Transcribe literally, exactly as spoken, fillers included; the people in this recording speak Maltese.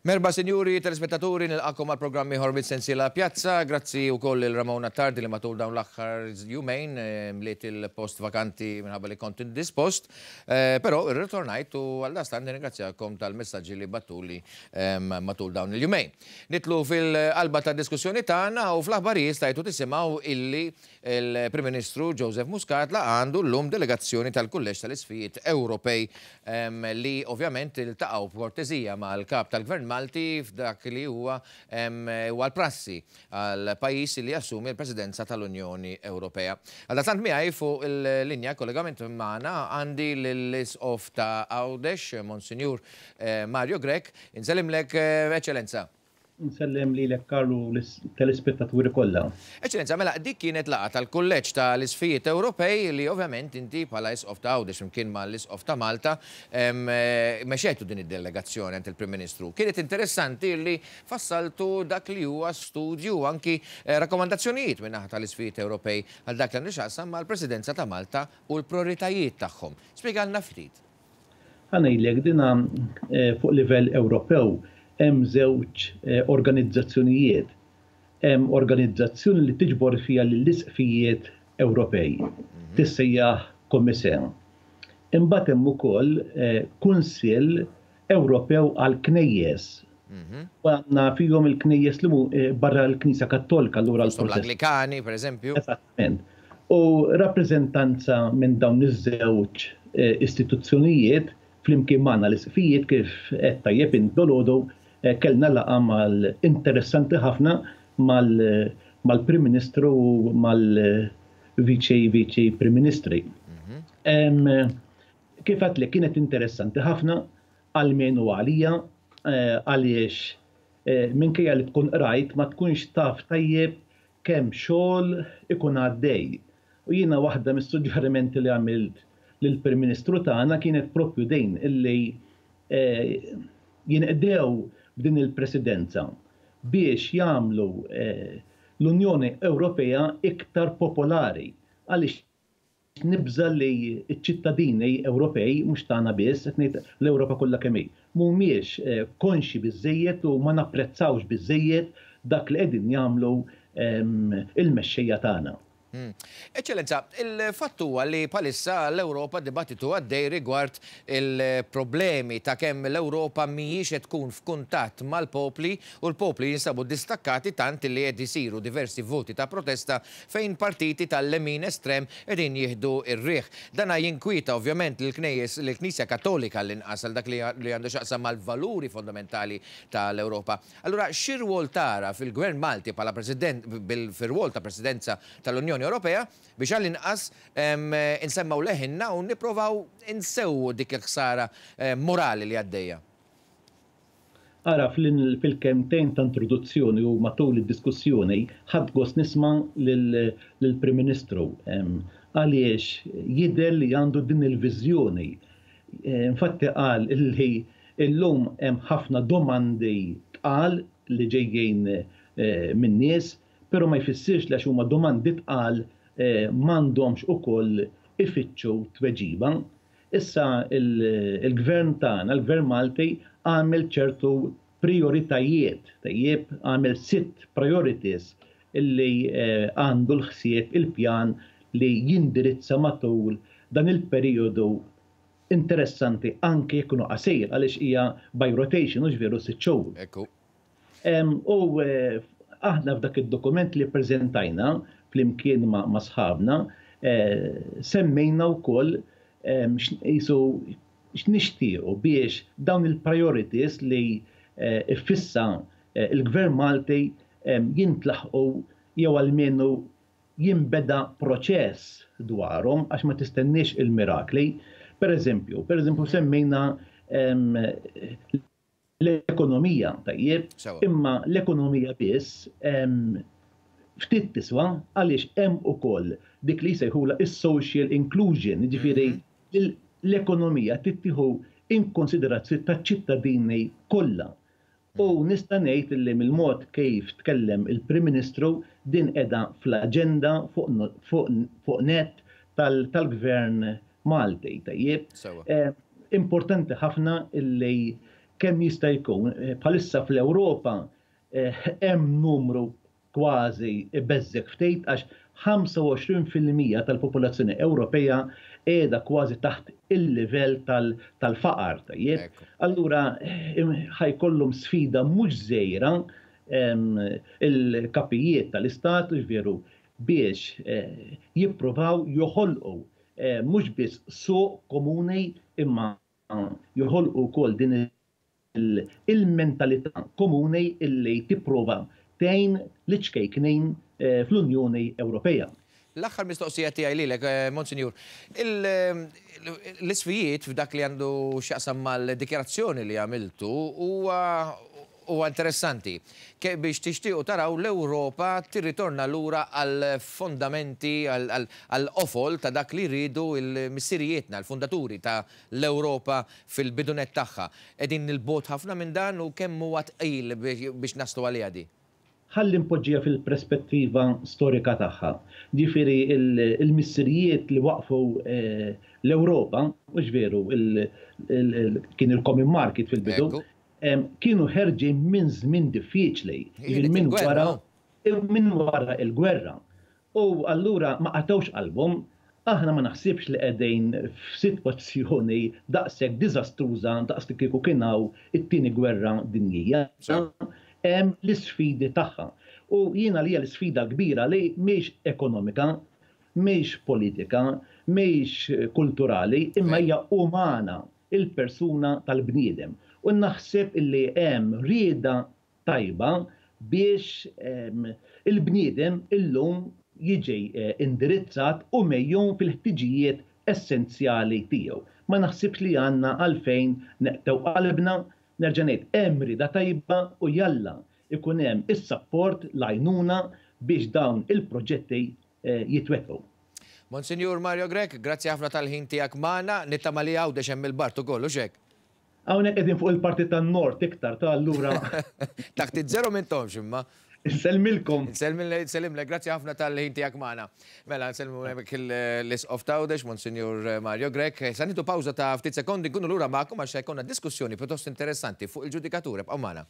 Merħba, sinjuri telespettaturi, nilqagħkom għal programm ieħor mis-sensiela Pjazza. Grazzi wkoll lil Ramona Tardi li matul dawn l-aħħar jumejn eh, mliet il-post vakanti minħabba li kont indispost. Eh, Però irritornajt u għaldaqstant nirringrazzjakom tal-messaġġi li bgħattuli matul dawn il-jumejn. Nidħlu fil-qalba ta' diskussjoni tagħna u fl-aħbarijiet stajtu tisimgħu illi il-Prim Ministru Joseph Muscat laqa' għandu llum delegazzjoni tal-Kulleġġ tal-Isqfijiet Ewropej li ovvjament iltaqgħu b'kortesija mal-kap tal-Gvern Malti f'dak li huwa huwa l-prassi għal pajjiż li jassumi l-Presidenza tal-Unjoni Ewropea. Għaldaqstant miegħi fuq il-linja kollegament magħna għandi l-Isqof ta' Għawdex, Monsinjur eh, Mario Grech. Insellimlek, eh, Eċċellenza. Nsellem lilek, Karlu, telespettaturi kollha. Eċċellenza, mela dik kienet laqgħa tal-Kulleġġ tal-Isqfijiet Ewropej li ovvjament inti bħala Isqof ta' Għawdex flimkien ma' l-Isqof ta' Malta eh, mexejtu din id-delegazzjoni għand il-Prim Ministru. Kienet interessanti li fassaltu dak li huwa studju u anki eh, rakkomandazzjonijiet minn naħa tal-Isqfijiet Ewropej għal dak li għandu x'jaqsam mal-Presidenza ta' Malta u l-prioritajiet tagħhom. Spjegalna ftit. Ħa ngħidlek, dina eh, fuq livell Ewropew hemm żewġ eh, organizzazzjonijiet. Hemm organizzazzjoni li tiġbor fiha lill-isqfijiet Ewropej. Tissejjaħ COMECE. Imbagħad hemm ukoll eh, Kunsill Ewropew għal Knejjes. U għandna fihom il-knejjes li mu eh, barra l-Knisja Kattolika, allura l-Anglikani, per eżempju. Esattament. U rappreżentanza minn dawn iż-żewġ istituzzjonijiet flimkien magħna l-isqfijiet, kif qed tajjeb int dalgħodu, eh, kellna laqgħa mal interessanti ħafna mal-Prim Ministru u mal-Viċi Viċi Prim Ministri. Mhm. Kif li kienet interessanti ħafna għalmenu għalija eh, għaliex eh, minkejja li tkun qrajt, ma tkunx taf tajjeb kemm xogħol ikun għaddej. U jiena waħda mis-suġġerimenti li għamilt lill-Prim Ministru tagħna kienet propju din illi eh, jinqdew b'din il-presidenza biex jagħmlu eh, l-Unjoni Ewropea iktar popolari, għaliex nibża li ċ-ċittadini Ewropej, mhux tagħna biss, qed ngħid l-Ewropa kollha kemm hi, mhumiex eh, konxi biżejjed u ma napprezzawx biżejjed dak li qegħdin jagħmlu ehm, il-mexxejja tagħna. Hmm. Eċċellenza, il-fatt huwa li bħalissa l-Ewropa dibattitu għaddej rigward il-problemi ta' kemm l-Ewropa mhijiex qed tkun f'kuntatt mal-popli u l-popli jinsabu distakkati, tant li qed isiru diversi voti ta' protesta fejn partiti tal-lemin estrem qegħdin jieħdu ir-riħ. Dana jinkwieta ovvjament l-Knejjes, l-Knisja Kattolika, l-inqas għal dak li għandu x'jaqsam mal-valuri fondamentali tal-Ewropa. Allura, x'irwol tara fil-Gvern Malti bħala President fil-rwol ta' Presidenza tal-Unjoni Ewropea biex għall-inqas insemmgħu leħinna u nipprovaw insewwu dik il-ħsara morali li għaddejja? Ara, fil-kelmtejn ta' introduzzjoni u matul id-diskussjoni ħadt gost nisma' lill-Prim Ministru għaliex jidher li għandu din il-viżjoni. Infatti qal illi illum hemm ħafna domandi tqal li ġejjin eh, min-nies, però ma jfissirx li għax huma domandi tqal eh, m'għandhomx ukoll ifittxu tweġiba. Issa il-gvern tagħna, il-gvern Malti, għamel ċertu prioritajiet, tajjeb, għamel sitt priorities illi eh, għandu l-ħsieb, il-pjan li jindirizza matul dan il-periodu interessanti, anke jekk qasir, għaliex hija by rotation, u veru sitt xhur. Ekku. U eh, aħna f'dak id-dokument li prezentajna flimkien ma', ma sħabna, eh, semmejna wkoll jisu x'nixtiequ biex dawn il-priorities li eh, iffissa eh, il-Gvern Malti jintlaħqu jew almenu jinbeda proċess dwarhom, għax ma tistenniex il-mirakli. Per eżempju, per eżempju semmejna l-ekonomija, tajjeb, imma l-ekonomija biss ftit tiswa, għaliex hemm ukoll dik li jsejħula is-social inclusion, jiġifieri mhm. l-ekonomija tittieħu in konsiderazzjoni taċ-ċittadini kollha. U mhm. nista' ngħid li mill-mod kif tkellem il-Prim Ministru, din qiegħda fl-aġenda fuq net tal-Gvern Malti. Tajjeb. Eh, importanti ħafna illi kemm jista' jkun bħalissa fl-Ewropa hemm numru kważi beżżek ftit għax ħamsa u għoxrin fil-mija tal-popolazzjoni Ewropea qiegħda kważi taħt il-livell tal-faqar, tajjeb. Allura ħajkollhom sfida mhux żgħira il-kapijiet tal-istat, veru, biex jippruvaw joħolqu mhux biss suq komuni imma joħolqu wkoll din il-mentalità komuni illi tipprova tgħin l-ċkejknin fl-Unjoni Ewropea. L-aħħar mistoqsija tiegħi lilek, Monsinjur, l-isfijiet f'dak li għandu x'jaqsam mal-dikjarazzjoni li għamiltu huwa huwa interessanti. Biex tixtiequ taraw l-Ewropa tirritorna lura għal-fondamenti, għal-qofol ta' dak li rridu il-missirijietna, l-fundaturi ta' l-Ewropa fil-bidunet tagħha. Qegħdin nil-bot ħafna minn dan u kemm huwa tqil biex naslu għaliha di? Ħalli npoġġiha fil-perspettiva storika tagħha. Ġifieri il-missirijiet li waqfu l-Ewropa, mhux veru, kien il-common market fil-bidu, kienu ħerġin minn żmien diffiċli, minn wara minn wara il-gwerra. U allura ma qatgħux qalbhom, aħna ma naħsibx li qegħdin f'sitwazzjoni daqshekk diżastruża daqs li kieku kien hawn it-tieni gwerra dinjija. Hemm l-isfidi tagħha. U jiena li hija l-isfida kbira li mhix ekonomika, mhix politika, mhix kulturali, imma hija umana, il-persuna tal-bniedem. U naħseb illi hemm rieda tajba biex il-bniedem illum jiġi indirizzat u mejjun fil-ħtiġijiet essenzjali tiegħu. Ma naħsibx li għandna għalfejn neqtew qalbna, nerġa' ngħid hemm rieda tajba u jalla ikun hemm is-sapport l-għajnuna biex dawn il-proġetti jitwettqu. Monsinjur Mario Grech, grazzi ħafna tal-ħin tiegħek magħna, nittama li Għawdex hemm il-bart ukoll, hux hekk? Hawnhekk qegħdin fuq il-parti tan-nord iktar ta' allura. Taħt iż-żero m'intomx imma. Insellmilkom. Nsellimlek, grazzi ħafna tal-ħin tiegħek magħna. Mela nsellmu hemmhekk l-Isqof t'Għawdex, Monsinjur Mario Grech. Sa nieħdu pawża ta' ftit sekondi nkunu lura magħkom għax se jkollna diskussjoni pjuttost interessanti fuq il-ġudikatura. Ibqgħu magħna.